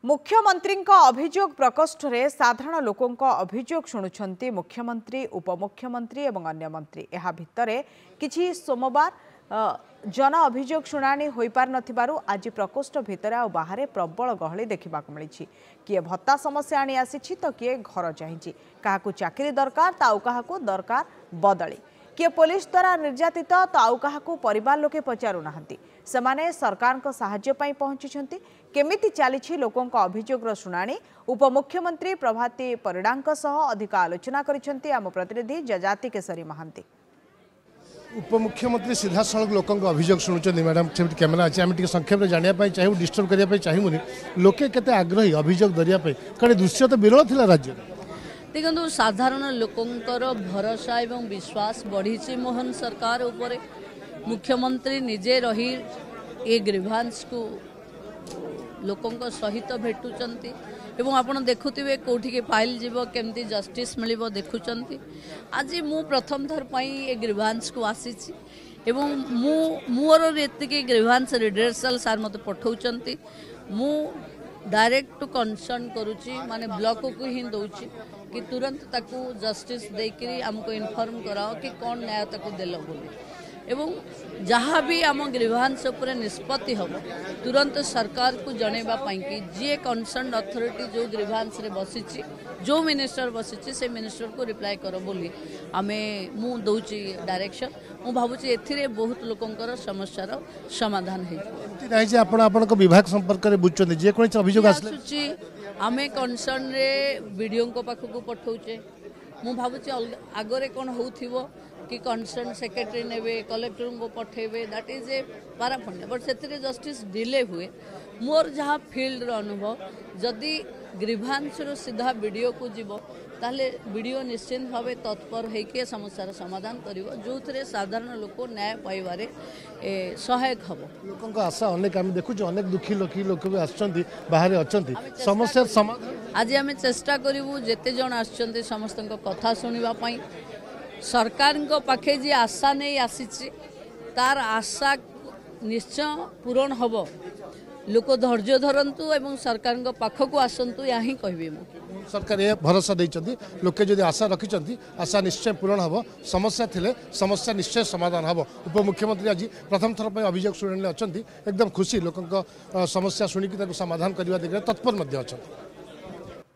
ମୁଖ୍ୟମନ୍ତ୍ରୀଙ୍କ ଅଭିଯୋଗ ପ୍ରକୋଷ୍ଠରେ ସାଧାରଣ ଲୋକଙ୍କ ଅଭିଯୋଗ ଶୁଣୁଛନ୍ତି ମୁଖ୍ୟମନ୍ତ୍ରୀ, ଉପମୁଖ୍ୟମନ୍ତ୍ରୀ ଏବଂ ଅନ୍ୟ ମନ୍ତ୍ରୀ। ଏହା ଭିତରେ କିଛି ସୋମବାର ଜନ ଅଭିଯୋଗ ଶୁଣାଣି ହୋଇପାରିନଥିବାରୁ ଆଜି ପ୍ରକୋଷ୍ଠ ଭିତରେ ଆଉ ବାହାରେ ପ୍ରବଳ ଗହଳି ଦେଖିବାକୁ ମିଳିଛି। କିଏ ଭତ୍ତା ସମସ୍ୟା ଆଣି ଆସିଛି ତ କିଏ ଘର ଚାହିଁଛି, କାହାକୁ ଚାକିରି ଦରକାର ତ ଆଉ କାହାକୁ ଦରକାର ବଦଳି, କିଏ ପୋଲିସ ଦ୍ୱାରା ନିର୍ଯାତିତ ତ ଆଉ କାହାକୁ ପରିବାର ଲୋକେ ପଚାରୁନାହାନ୍ତି। ସେମାନେ ସରକାରଙ୍କ ସାହାଯ୍ୟ ପାଇଁ ପହଞ୍ଚିଛନ୍ତି। କେମିତି ଚାଲିଛି ଲୋକଙ୍କ ଅଭିଯୋଗର ଶୁଣାଣି, ଉପମୁଖ୍ୟମନ୍ତ୍ରୀ ପ୍ରଭାତୀ ପରିଡ଼ାଙ୍କ ସହ ଅଧିକ ଆଲୋଚନା କରିଛନ୍ତି ଆମ ପ୍ରତିନିଧି ଯଯାତି କେଶରୀ ମହାନ୍ତି। ଉପମୁଖ୍ୟମନ୍ତ୍ରୀ ସିଧାସଳଖ ଲୋକଙ୍କ ଅଭିଯୋଗ ଶୁଣୁଛନ୍ତି। ମ୍ୟାଡ଼ାମ୍, ସେମିତି କ୍ୟାମେରା ଅଛି, ଆମେ ଟିକେ ସଂକ୍ଷେପରେ ଜାଣିବା ପାଇଁ ଚାହିଁବୁ, ଡିଷ୍ଟର୍ବ କରିବା ପାଇଁ ଚାହିଁବୁନି। ଲୋକେ କେତେ ଆଗ୍ରହୀ ଅଭିଯୋଗ ଧରିବା ପାଇଁ, କାରଣ ଦୃଶ୍ୟ ତ ବିରଳ ଥିଲା ରାଜ୍ୟରେ। ଦେଖନ୍ତୁ, ସାଧାରଣ ଲୋକଙ୍କର ଭରସା ଏବଂ ବିଶ୍ୱାସ ବଢ଼ିଛି ମୋହନ ସରକାର ଉପରେ। ମୁଖ୍ୟମନ୍ତ୍ରୀ ନିଜେ ରହି ଏ ଗ୍ରିଭାନ୍ସକୁ ଲୋକଙ୍କ ସହିତ ଭେଟୁଛନ୍ତି ଏବଂ ଆପଣ ଦେଖୁଥିବେ କେଉଁଠିକି ଫାଇଲ୍ ଯିବ, କେମିତି ଜଷ୍ଟିସ୍ ମିଳିବ ଦେଖୁଛନ୍ତି। ଆଜି ମୁଁ ପ୍ରଥମ ଥର ପାଇଁ ଏ ଗ୍ରିଭାନ୍ସକୁ ଆସିଛି ଏବଂ ମୁଁ ମୋର ଏତିକି ଗ୍ରିଭାନ୍ସ ରିଡ୍ରେସଲ୍ ସାର୍ ମୋତେ ପଠାଉଛନ୍ତି, ମୁଁ ଡାଇରେକ୍ଟ ଟୁ କନସର୍ନ କରୁଛି, ମାନେ ବ୍ଲକକୁ ହିଁ ଦେଉଛି କି ତୁରନ୍ତ ତାକୁ ଜଷ୍ଟିସ୍ ଦେଇକରି ଆମକୁ ଇନଫର୍ମ କରାଅ କି କ'ଣ ନ୍ୟାୟ ତାକୁ ଦେଲ ବୋଲି। ଏବଂ ଯାହା ବି ଆମ ଗ୍ରିଭାନ୍ସ ଉପରେ ନିଷ୍ପତ୍ତି ହେବ ତୁରନ୍ତ ସରକାରକୁ ଜଣାଇବା ପାଇଁକି ଯିଏ କନସର୍ନ ଅଥରିଟି ଯେଉଁ ଗ୍ରିଭାନ୍ସରେ ବସିଛି, ଯେଉଁ ମିନିଷ୍ଟର ବସିଛି, ସେ ମିନିଷ୍ଟରକୁ ରିପ୍ଲାଏ କର ବୋଲି ଆମେ ମୁଁ ଦେଉଛି ଡାଇରେକ୍ସନ୍। ମୁଁ ଭାବୁଛି ଏଥିରେ ବହୁତ ଲୋକଙ୍କର ସମସ୍ୟାର ସମାଧାନ ହେଇଯିବ। ଏମିତି ନାହିଁ ଯେ ଆପଣ ଆପଣଙ୍କ ବିଭାଗ ସମ୍ପର୍କରେ ବୁଝୁଛନ୍ତି, ଯେକୌଣସି ଅଭିଯୋଗ ଆସୁଛି ଆମେ କନସର୍ନରେ ବିଡ଼ିଓଙ୍କ ପାଖକୁ ପଠାଉଛେ। ମୁଁ ଭାବୁଛି ଆଗରେ କ'ଣ ହେଉଥିବ କି କନସର୍ନ ସେକ୍ରେଟାରୀ ନେବେ, କଲେକ୍ଟରଙ୍କୁ ପଠାଇବେ, that is a paraphernalia, but ସେଥିରେ ଜଷ୍ଟିସ୍ ଡିଲେ ହୁଏ। ମୋର ଯାହା ଫିଲ୍ଡର ଅନୁଭବ, ଯଦି ଗ୍ରିଭାନ୍ସରୁ ସିଧା ବିଡ଼ିଓକୁ ଯିବ ତାହେଲେ ବିଡ଼ିଓ ନିଶ୍ଚିନ୍ତ ଭାବେ ତତ୍ପର ହେଇକି ଏ ସମସ୍ୟାର ସମାଧାନ କରିବ, ଯେଉଁଥିରେ ସାଧାରଣ ଲୋକ ନ୍ୟାୟ ପାଇବାରେ ସହାୟକ ହେବ। ଲୋକଙ୍କ ଆଶା ଅନେକ, ଆମେ ଦେଖୁଛୁ ଅନେକ ଦୁଃଖୀ ଲୋକ ବି ଆସୁଛନ୍ତି, ବାହାରେ ଅଛନ୍ତି, ସମସ୍ୟାର ସମାଧାନ ଆଜି ଆମେ ଚେଷ୍ଟା କରିବୁ ଯେତେ ଜଣ ଆସୁଛନ୍ତି ସମସ୍ତଙ୍କ କଥା ଶୁଣିବା ପାଇଁ। ସରକାରଙ୍କ ପାଖେ ଯିଏ ଆଶା ନେଇ ଆସିଛି ତାର ଆଶା ନିଶ୍ଚୟ ପୂରଣ ହେବ। ଲୋକ ଧୈର୍ଯ୍ୟ ଧରନ୍ତୁ ଏବଂ ସରକାରଙ୍କ ପାଖକୁ ଆସନ୍ତୁ, ଏହା ହିଁ କହିବି ମୁଁ। ସରକାର ଏ ଭରସା ଦେଇଛନ୍ତି, ଲୋକେ ଯଦି ଆଶା ରଖିଛନ୍ତି ଆଶା ନିଶ୍ଚୟ ପୂରଣ ହେବ, ସମସ୍ୟା ଥିଲେ ସମସ୍ୟା ନିଶ୍ଚୟ ସମାଧାନ ହେବ। ଉପମୁଖ୍ୟମନ୍ତ୍ରୀ ଆଜି ପ୍ରଥମ ଥର ପାଇଁ ଅଭିଯୋଗ ଶୁଣାଣିରେ ଅଛନ୍ତି, ଏକଦମ ଖୁସି, ଲୋକଙ୍କ ସମସ୍ୟା ଶୁଣିକି ତାକୁ ସମାଧାନ କରିବା ଦିଗରେ ତତ୍ପର ମଧ୍ୟ ଅଛନ୍ତି।